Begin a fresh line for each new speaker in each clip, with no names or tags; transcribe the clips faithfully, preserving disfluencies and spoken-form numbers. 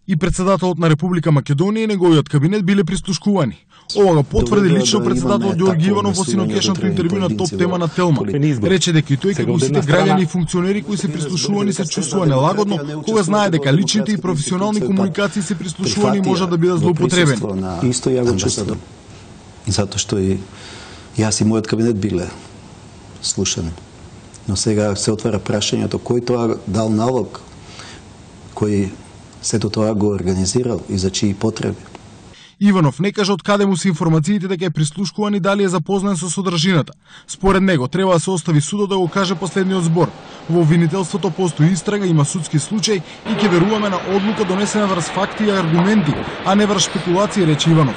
И председателот на Република Македонија и неговиот кабинет биле прислушкувани. Ова го потврди лично председател Ѓорги Иванов во синокешното интервју на Топ тема на Телма. Рече дека и тој како сите граѓани и функционери кои се прислушувани се чувствува нелагодно кога знае дека личните и професионални комуникации се прислушувани можат да бидат злоупотребени.
Исто ја го чувствувам. И затоа што и јас и мојот кабинет биле слушани. Но сега се отвара прашањето кој тоа дал налог, кој сето тоа го организирал и за чии потреби.
Иванов не кажа од каде му се информациите дека е прислушкуван и дали е запознан со содржината. Според него треба да се остави судот да го каже последниот збор. Во обвинителството постои истрага, има судски случај и ќе веруваме на одлука донесена врз факти и аргументи, а не врз спекулации, рече Иванов.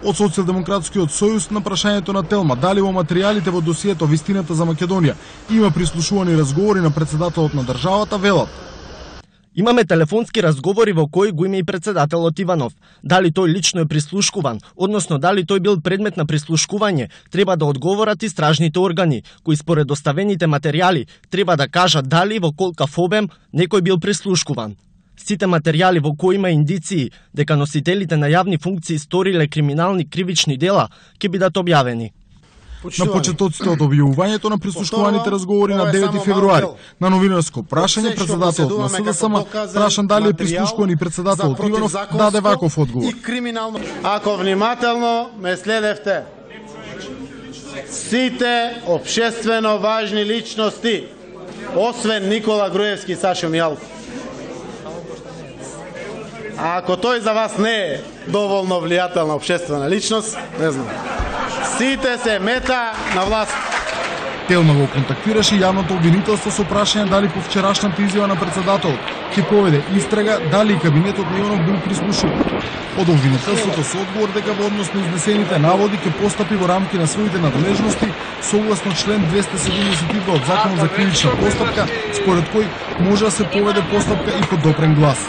Од Социјалдемократскиот сојуз на прашањето на Телма дали во материјалите во досието Вистината за Македонија има прислушувани разговори на председателот на државата, велат.
Имаме телефонски разговори во кои го има и председателот Иванов. Дали тој лично е прислушкуван, односно дали тој бил предмет на прислушкување, треба да одговорат и стражните органи, кои според доставените материјали треба да кажат дали во колкав обем некој бил прислушкуван. Сите материјали во кои има индиции дека носителите на јавни функции сториле криминални кривични дела ќе бидат објавени.
На почетоците од објавувањето на прислушкуваните разговори на девети февруари, на новинарско прашање председателот на СДСМ прашан дали е прислушкуван и председателот Иванов даде ваков одговор.
Ако внимателно ме следевте, сите општествено важни личности, освен Никола Груевски и Сашо Мијалков. А ако тој за вас не е доволно влијателна општествена личност, не знам. Сите се мета на власт.
Телма го контактираше јавното обвинителство со прашање дали по вчерашната изјава на председателот ќе поведе истрага дали и кабинетот на Иванов бил прислушуван. Од обвинителството со одговор дека во однос на изнесените наводи ќе постапи во рамки на своите надлежности согласно член двесте седумдесет и два од Законот за кривична постапка, според кој може да се поведе постапка и по допрен глас.